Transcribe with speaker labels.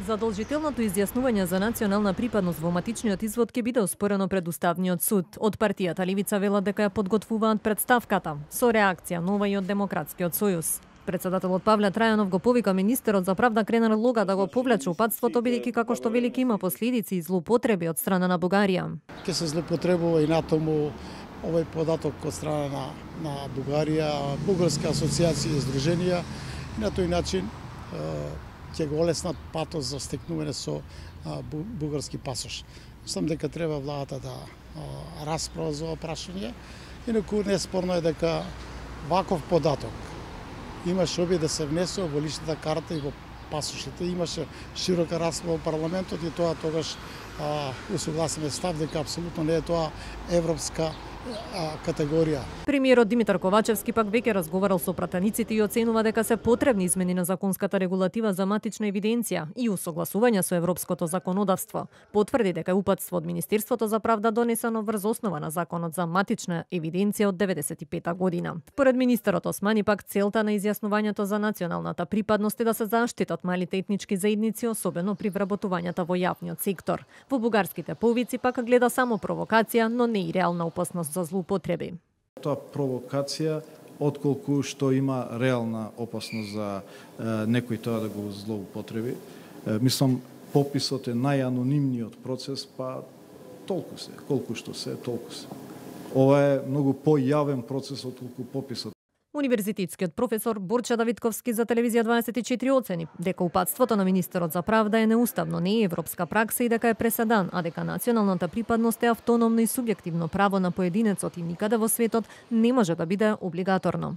Speaker 1: Задолжителното изјаснување за национална припадност во матичниот извод ќе биде оспорено пред Уставниот суд. Од партијата Левица велат дека ја подготвуваат претставката, со реакција нова и од Демократскиот сојуз. Председателот Павле Трајанов го повика министерот за правда Кренар Лога да го повлече упатството, бидејќи како што велики има последици и злоупотреби од страна на Бугарија.
Speaker 2: Ќе се злоупотребува и натаму овој податок од страна на Бугарија, бугарски асоциации и здруженија, и на тој начин ќе го олеснат патот за стекнување со бугарски пасош. Мислам дека треба владата да расправа за ова прашање, инаку неспорно е дека ваков податок имаше обид да се внесува во личната карта и во пасошите. Имаше широка расправа во парламентот и тоа тогаш усогласен став дека апсолутно не е тоа европска категорија.
Speaker 1: Премиерот Димитар Ковачевски пак веќе разговарал со пратениците и оценува дека се потребни измени на законската регулатива за матична евиденција и усогласување со европското законодавство. Потврди дека упатство од Министерството за правда донесено врз основа на законот за матична евиденција од 95 година. Според министерот Османи пак целта на изјаснувањето за националната припадност е да се заштитат малите етнички заедници, особено при вработувањата во јавниот сектор. Во бугарските повици пак гледа само провокација, но не и реална опасност за злоупотреби.
Speaker 3: Тоа провокација, отколку што има реална опасност за некој тоа да го злоупотреби. Мислам, пописот е најанонимниот процес, па толку се, колку што се, толку се. Ова е многу појавен процес отколку пописот.
Speaker 1: Универзитетскиот професор Борча Давидковски за телевизија 24 оцени дека упатството на министерот за правда е неуставно, не е европска пракса и дека е преседан, а дека националната припадност е автономно и субјективно право на поединецот и никаде во светот не може да биде облигаторно.